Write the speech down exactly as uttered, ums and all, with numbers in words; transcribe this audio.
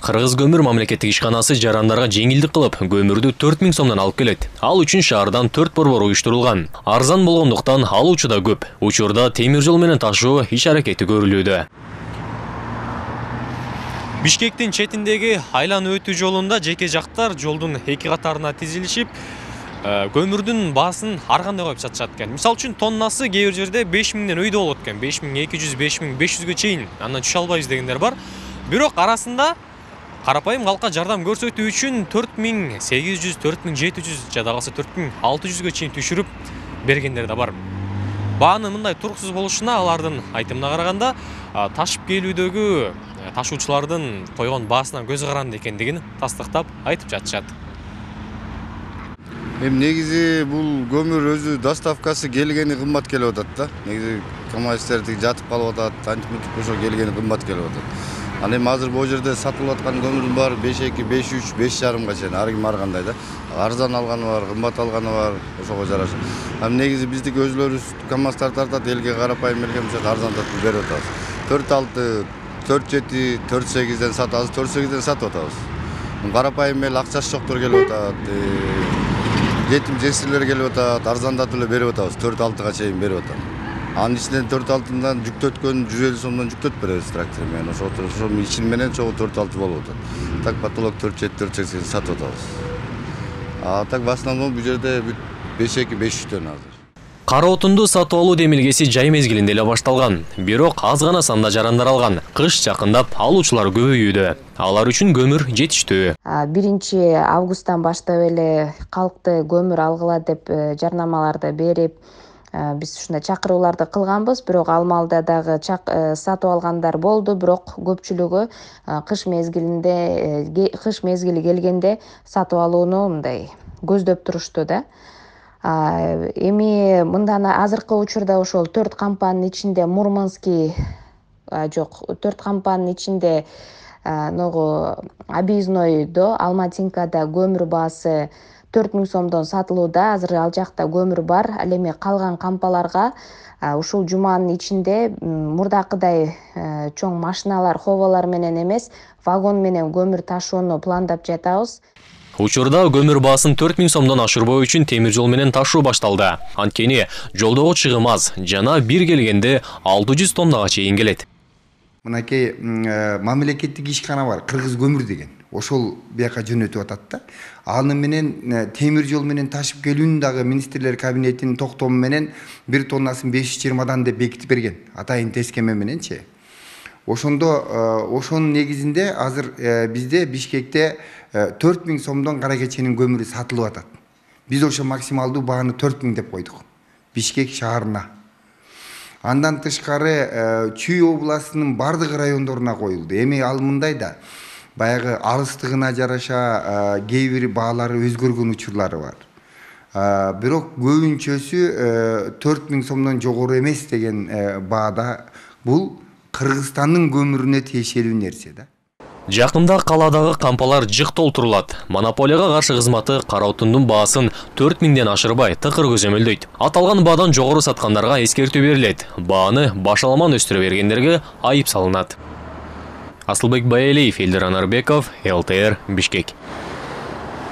Кыргыз көмүр мамлекеттик ишканасы жарандарга жеңилдик кылып, көмүрдү төрт миң сомдон алып келет. Ал үчүн шаардан төрт борбор уюштурулган. Арзан болгондуктан алуучу да көп. Учурда темир жол менен ташуу иш аракети көрүлүүдө. Бишкектин четиндеги айлануу өтүү жолунда жеке жактар жолдун эки катарына тизилишип, көмүрдүн баасын ар кандай коюп сатышат экен. Мисалы үчүн тоннасы кээ бир жерде беш миңден өйдө болот экен. беш миң эки жүз, беш миң беш жүзгө чейин. Андан түшө албайбыз дегендер бар. Бирок арасында карапайым калкка жардам көрсөтүү үчүн төрт миң сегиз жүз, төрт миң жети жүз жада калса төрт миң алты жүзгө чейин түшүрүп бергендер да бар. Баанын мындай туруксуз болушуна алардын айтымына караганда ташып келүүдөгү ташуучулардын койгон баасынан көз каранды экендигин тастыктап айтып жатышат. Эми негизи бул көмүр өзү доставкасы келгени кымбат келип атат да. Негизи КамАЗдер жатып калып атат, антип ошо келгени кымбат келип атат. Аны эми азыр бул жерде сатылып аткан көмүрдүн баары беш эки, беш үч, беш жарымга чейин ар ким ар кандай да. Арзан алганы бар, кымбат алганы бар, ошого жараша. Ам негизи биздики өзлөрүбүз КамАЗдар тартат, элге карапайым элге мисалы арзандатып берип атабыз. төрт алты, төрт жети, төрт сегизден сатабыз, төрт сегизден сатып атабыз. Карапайым эл акчасы жоктор келип атат. Жетим жесирлер келип атат, арзандатып эле берип атабыз, төрт алтыга чейин берип атам. Анын ичинен төрт алтыдан жүктөткөн жүз элүү сомдон жүктөтүп беребиз трактор менен. Ошо ошонун ичин менен чогуу төрт алты болуп атат. Так потолок төрт жети, төрт сексен сатып атабыз. А так в основном бул жерде беш эки, беш үчтөн азыр. Кара отунду сатып алуу демилгеси жай мезгилинде эле башталган. Бирок аз гана санда жарандар алган. Кыш жакындап алуучулар көбөйүүдө. Алар үчүн көмүр жетиштүү. биринчи августтан баштап эле калкты көмүр алгыла деп жарнамаларды берип, биз ушундай чакырууларды кылганбыз. Бирок ал маалда дагы сатып алгандар болду, бирок көпчүлүгү кыш мезгилинде кыш мезгили келгенде сатып алууну мындай көздөп турушту да. Эми мындан азыркы учурда ошол төрт кампанын ичинде Мурманский жок, төрт кампанын ичинде ногу объезднойдо Алматинкада көмүр баасы төрт миң сомдон сатылууда. Азыр ал жакта көмүр бар. Ал эми калган кампаларга ушул жуманын ичинде мурдакыдай чоң машиналар, ховалар менен эмес, вагон менен көмүр ташууну пландап жатабыз. Учурда көмүр баасын төрт миң сомдон ашырбоо үчүн темир жол менен ташуу башталды. Анткени жолдогу чыгым аз, жана бир келгенде алты жүз тоннага чейин келет. Мынакей мамлекеттик ишкана бар, Кыргыз көмүр деген. Ошол бияка жөнөтүп атат да. Аны менен темир жол менен ташып келүүнү дагы министрлер кабинетинин токтому менен бир тоннасын беш жүз жыйырмадан деп бекитип берген. Атайын тескеме мененчи. Ошондо ошонун негизинде азыр бизде Бишкекте төрт миң сомдон кара кеченин көмүрү сатылып атат. Биз ошо максималдуу бааны төрт миң деп койдук. Бишкек шаарына. Андан тышкары Чүй областынын бардык райондоруна коюлду. Эми ал мындай да, баягы алыстыгына жараша кээ бир баалары өзгөргөн учурлары бар. Бирок көбүнчөсү төрт миң сомдон жогору эмес деген баада. Бул Кыргызстандын көмүрүнө тиешелүү нерсе да. Жакында каладагы кампалар жык толтурулат. Монополияга каршы кызматы кара отундун баасын төрт миңден ашырбай тыкыр көзөмөлдөйт. Аталган баадан жогору саткандарга эскертүү берилет. Бааны башаламан өстүрө бергендерге айып салынат. Асылбек Баялиев, Элдер Анарбеков, эл тэ эр, Бишкек.